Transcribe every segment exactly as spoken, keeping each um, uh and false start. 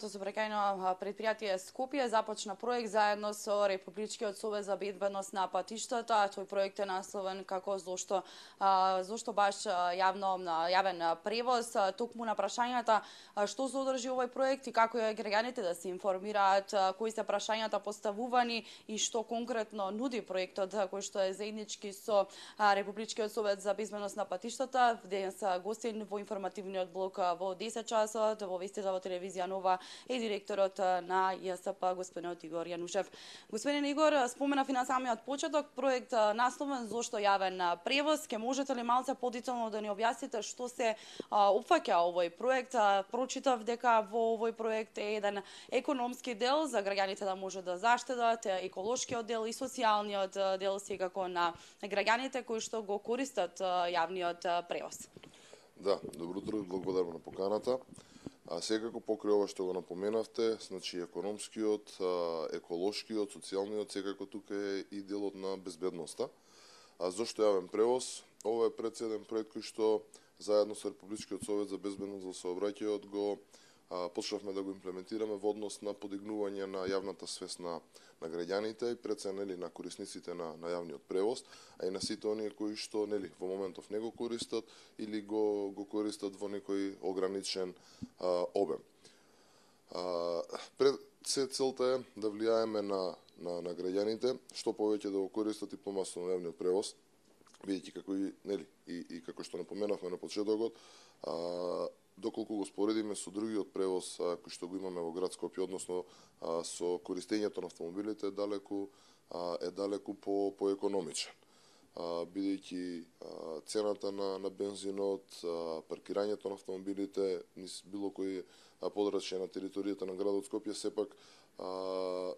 Сообраќајно предпријатие Скопје започна проект заедно со Републичкиот совет за безбедност на патиштата. Тој проект е насловен како зошто зошто баш јавно јавен превоз. Токму на прашањата што содржи овој проект и како е граѓаните да се информираат, кои се прашањата поставувани и што конкретно нуди проектот кој што е заеднички со Републичкиот совет за безбедност на патиштата. Денес гостин во информативниот блок во десет часот во вестите во телевизија Нова е директорот на ЈСП, господинот Игор Јанушев. Господин Игор, споменав и на самиот почеток проект насловен зошто јавен превоз. Ке можете ли малце подетално да ни објасните што се опфаќа овој проект? Прочитав дека во овој проект е еден економски дел за граѓаните да може да заштедат, еколошкиот дел и социјалниот дел секако на граѓаните кои што го користат јавниот превоз. Да, добро утро и благодарам на поканата. А секако покрај ова што го напоменавте, значи економскиот, еколошкиот, социјалниот, секако тука е и делот на безбедноста. А зошто јавен превоз? Ова е председен проект кој што заедно со Републичкиот совет за безбедност во сообраќајот го а, почнавме да го имплементираме во однос на подигнување на јавната свест на, на граѓаните и пред се нели на корисниците на, на јавниот превоз, а и на сите оние кои што нели во моментов не го користат или го го користат во некој ограничен а, обем. А, пред се целта е да влијаеме на на на граѓаните што повеќе да го користат и помасно јавниот превоз, бидејќи како и нели и, и како што напоменавме на почетокот, а, доколку го споредиме со другиот превоз а, кој што го имаме во град Скопје, односно а, со користењето на автомобилите, е далеку а, е далеку по поекономичен. Бидејќи цената на на бензинот, а, паркирањето на автомобилите низ било кој подрачје на територијата на градот Скопје сепак а,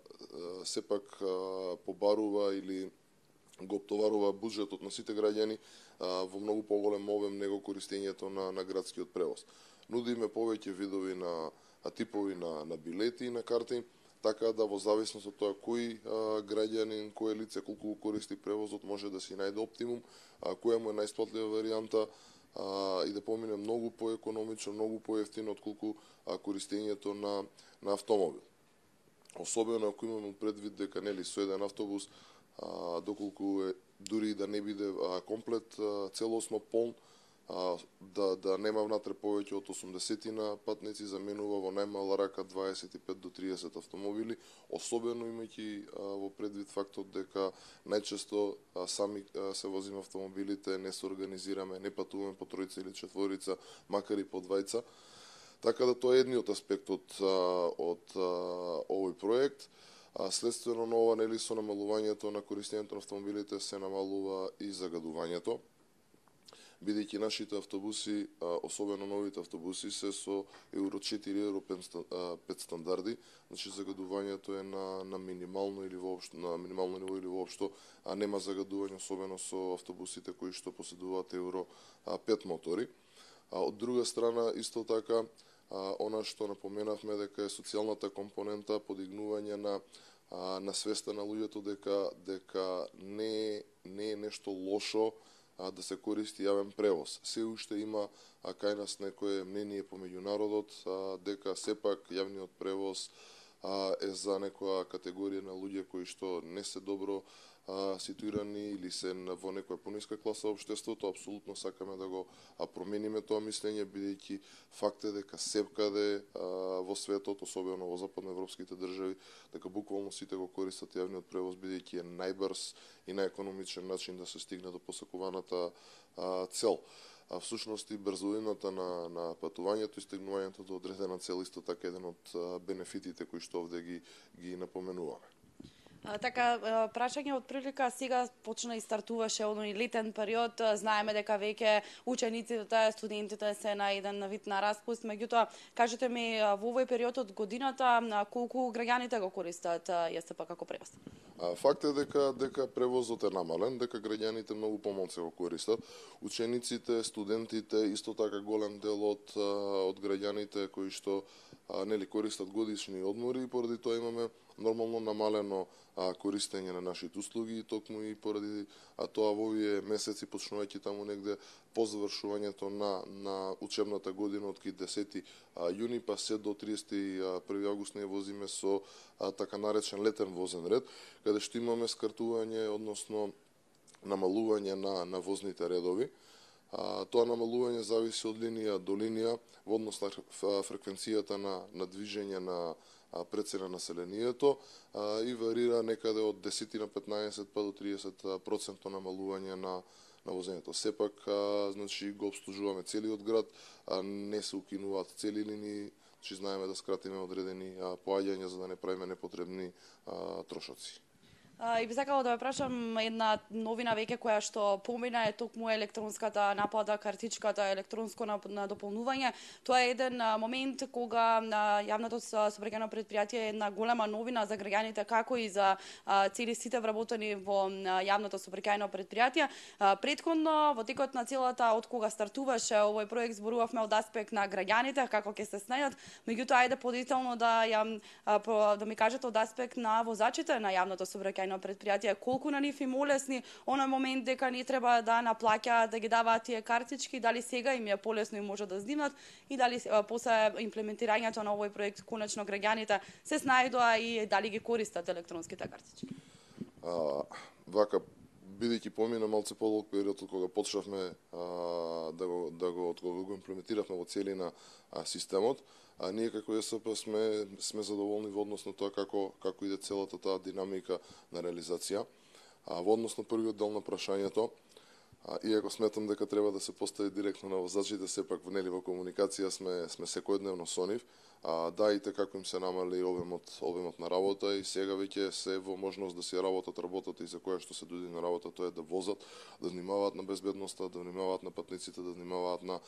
сепак а, побарува или го оптоварува буџетот на сите граѓани а, во многу поголем обем него користењето на на градскиот превоз. Нудиме повеќе видови на а, типови на на билети и на карти, така да во зависност од тоа кој а, граѓанин, кој лице колку го користи превозот може да си најде оптимум, а, која му е најисплатлива варијанта а, и да помине многу поекономично, многу поевтино отколку а, користењето на на автомобил. Особено ако имаме предвид дека нели со еден автобус а, доколку е дури да не биде а, комплет а, целосно полн, а, да да нема внатре повеќе од осумдесетина патници, заменува во најмала рака дваесет и пет до триесет автомобили, особено имајќи во предвид фактот дека најчесто а, сами а, се возиме автомобилите, не се организираме, не патуваме по тројца или четворица, макар и по двајца. Така да тоа е едниот аспект од од овој проект. А следствено на ова, нели, со намалувањето на користењето на автомобилите се намалува и загадувањето, бидејќи нашите автобуси, особено новите автобуси, се со евро четири, евро пет стандарди, значи загадувањето е на на минимално или воопшто на минимално ниво или воопшто, а нема загадување особено со автобусите кои што поседуваат евро пет мотори. А од друга страна исто така А, она што напоменавме дека е социјалната компонента, подигнување на а, на свеста на луѓето дека дека не не е нешто лошо а, да се користи јавен превоз. Се уште има а, кај нас некое мнение по меѓународот а, дека сепак јавниот превоз а, е за некоја категорија на луѓе кои што не се добро а, ситуирани или се во некоја пониска класа општеството. Апсолутно сакаме да го а, промениме тоа мислење, бидејќи факт е дека секаде а, во светот, особено во западноевропските држави, дека буквално сите го користат јавниот превоз, бидејќи е најбрз и најекономичен начин да се стигне до посакуваната а, цел. А всушност и брзината на на патувањето и стигнувањето до одредена цел исто така еден од а, бенефитите кои што овде ги ги напоменуваме. А, така, прашање од прилика сега почна и стартуваше оној летен период. Знаеме дека веќе учениците, студентите се на еден вид на распуст, меѓутоа кажете ми во овој период од годината колку граѓаните го користат ЈСП како превоз? А, факт е дека дека превозот е намален, дека граѓаните многу помалку го користат. Учениците, студентите, исто така голем дел од од граѓаните кои што а, нели користат годишни одмори и поради тоа имаме нормално намалено а, користење на нашите услуги и токму и поради а, тоа во овие месеци почнувајќи таму негде по завршувањето на на учебната година од десети јуни па се до триесети и први август ние возиме со а, така наречен летен возен ред, каде што имаме скратување, односно намалување на на возните редови. А, тоа намалување зависи од линија до линија во однос на фреквенцијата на на движење на прецена населението а, и варира некаде од десет на петнаесет па до триесет проценти намалување на на возењето. Сепак, а, значи, го обслужуваме целиот град, а, не се укинуваат цели линии, значи знаеме да скратиме одредени а, поаѓања за да не правиме непотребни а, трошоци. Uh, и би сакала да ве прашам една новина веќе која што помина е токму електронската напада, картичката, електронско надополнување. Тоа е еден uh, момент кога на uh, јавното сообраќајно предпријатие е една голема новина за граѓаните, како и за uh, цели сите вработени во uh, јавното сообраќајно предпријатие. Uh, Претходно, во текот на целата од кога стартуваше овој проект, зборувавме од аспект на граѓаните, како ќе се снајдат, меѓутоа ајде подетално да ја uh, да ми кажете од аспект на возачите на јавното сообраќајно предпријатија, колку на нив им олесни оној момент дека не треба да наплаќаат, да ги даваат тие картички, дали сега им е полесно и може да снимат и дали после имплементирањето на овој проект конечно граѓаните се снајдоа и дали ги користат електронските картички. А, вака бидејќи помина малце подолг период од кога почнавме а, да го да го од кога го имплементиравме во целина а, системот, а ние како ЕСП сме сме задоволни во однос на тоа како како иде целата таа динамика на реализација. А во однос на првиот дел на прашањето, а, иако сметам дека треба да се постави директно на возачите, сепак нели во комуникација сме сме секојдневно со нив. А, да, и како им се намали обемот, обемот на работа и сега веќе се во можност да си работат работата и за која што се дојде на работа, тоа е да возат, да внимаваат на безбедноста, да внимаваат на патниците, да внимаваат на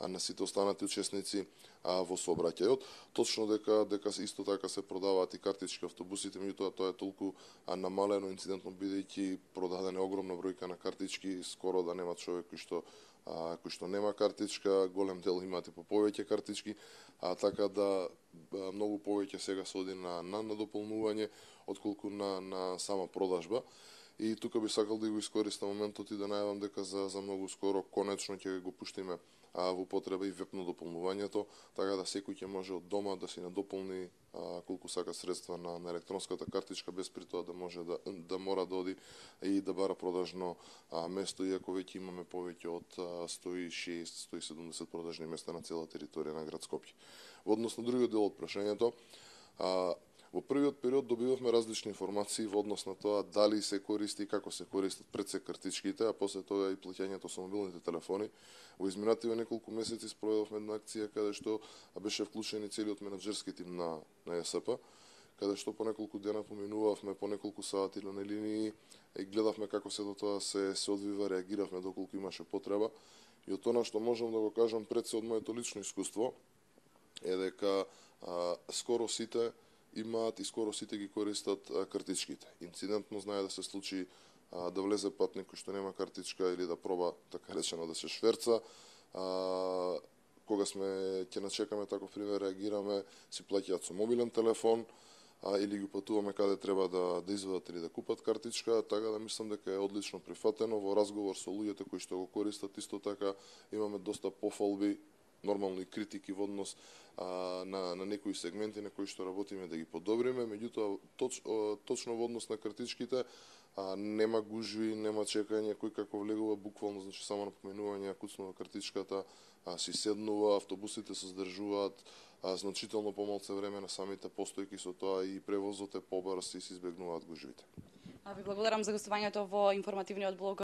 на сите останати учесници а, во сообраќајот. Точно дека дека исто така се продаваат и картички автобусите, меѓутоа тоа е толку а, намалено инцидентно бидејќи продадена огромна бројка на картички, скоро да нема човек кој што а, кој што нема картичка, голем дел имате по повеќе картички, а така да многу повеќе сега се оди на на надополнување отколку на на сама продажба. И тука би сакал да го искористам моментот и да најавам дека за за многу скоро конечно ќе го пуштиме а, во употреба и веб надополнувањето, така да секој ќе може од дома да си надополни а, колку сака средства на, на електронската картичка без при тоа да може да да мора да оди и да бара продажно а, место, иако веќе имаме повеќе од а, сто и шест до сто и седумдесет продажни места на цела територија на град Скопје. Во однос на другиот дел од прашањето, а, во првиот период добивавме различни информации во однос на тоа дали се користи и како се користат пред се картичките, а после тоа и плаќањето со мобилните телефони. Во изминативе неколку месеци спроведовме една акција каде што беше вклучен и целиот менаџерски тим на на ЕСП, каде што по неколку дена поминувавме по неколку сати на линии и гледавме како се до тоа се се одвива, реагиравме доколку имаше потреба. И од тоа што можам да го кажам пред се од моето лично искуство е дека а, скоро сите имаат и скоро сите ги користат а, картичките. Инцидентно знае да се случи а, да влезе патник кој што нема картичка или да проба, така речено, да се шверца. А, кога сме ќе начекаме таков пример, реагираме, си плаќаат со мобилен телефон а, или ги патуваме каде треба да да извадат или да купат картичка, така да мислам дека е одлично прифатено. Во разговор со луѓето кои што го користат, исто така имаме доста пофалби, нормално и критики во однос а, на, на некои сегменти на кои што работиме да ги подобриме, меѓутоа точ, точно во однос на картичките а, нема гужви, нема чекање, кој како влегува буквално, значи само напоменување, куцнува картичката, а, си седнува, автобусите се здржуваат а, значително помалце време на самите постојки, со тоа и превозот е побрз и се избегнуваат гужвите. А ви благодарам за гостувањето во информативниот блог